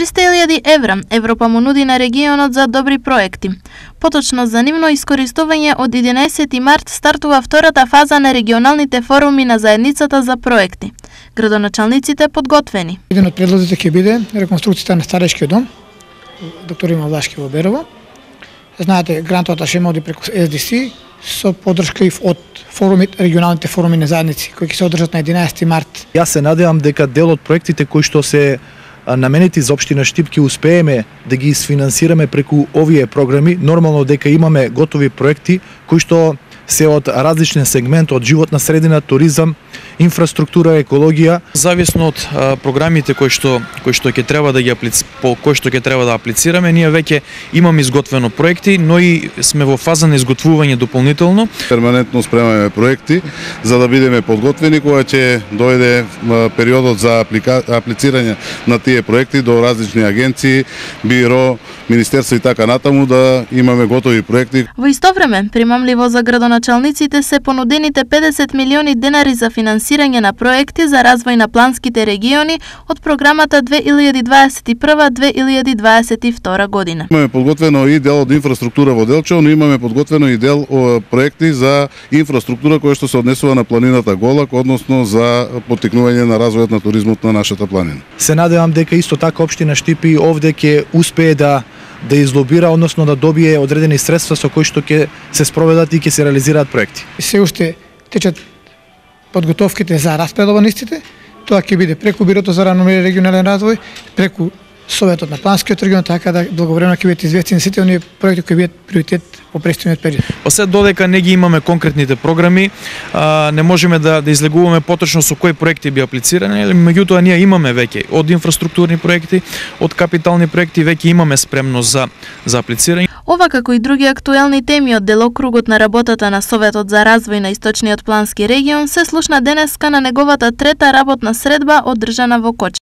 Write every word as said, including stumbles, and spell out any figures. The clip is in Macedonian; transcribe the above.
триста илјади евра Европа му нуди на регионот за добри проекти. Поточно за нивно искористување од единаесети март стартува втората фаза на регионалните форуми на заедницата за проекти. Градоначалниците подготвени. Еден од предлозите ќе биде реконструкцијата на старечкиот дом, доктор Има Влашки во Берово. Знаете, грантовата шема оди преку Ес Ди Си со поддршка и од форуми, регионалните форуми на заедници, кои ќе се одржат на единаесети март. Јас се надевам дека дел од проектите кои што се наменети за општина Штип ќе успееме да ги isfinansirаме преку овие програми. Нормално дека имаме готови проекти кои што се од различен сегмент, од животна средина, туризам, инфраструктура, екологија. Зависно од а, програмите кои што кои што ќе треба да ги аплици, по кои што ќе треба да аплицираме, ние веќе имаме изготвено проекти, но и сме во фаза на изготвување дополнително. Перманентно спремаме проекти за да бидеме подготвени кога ќе дојде периодот за аплика... аплицирање на тие проекти до различни агенции, биро, министерство и така натаму, да имаме готови проекти. Во исто време, примамливо за градоначалниците се понудените педесет милиони денари за финансирање на проекти за развој на планските региони од програмата две илјади дваесет и прва - две илјади дваесет и втора година. Имаме подготвено и дел од инфраструктура во Делчево, но имаме подготвено и дел о, проекти за инфраструктура која што се однесува на планината Голак, односно за поттикнување на развојот на туризмот на нашата планина. Се надевам дека исто така општина Штипи овде ќе успее да да излобира, односно да добие одредени средства со кои што ќе се спроведат и ќе се реализираат проекти. Се уште течат подготовките за распредба на истите. Тоа ќе биде преку Бирото за равномерен регионален развој, преку Советот на планскиот регион, така да благовремено ќе бидат известени сите оние проекти кои бидат приоритет во престојниот период. Па се додека не ги имаме конкретните програми, а, не можеме да да излегуваме поточно со кои проекти би аплицирани, меѓутоа ние имаме веќе од инфраструктурни проекти, од капитални проекти веќе имаме спремност за за аплицирање. Ова како и други актуелни теми од делокругот на работата на Советот за развој на Источниот плански регион се слушна денеска на неговата трета работна средба одржана во Кочани.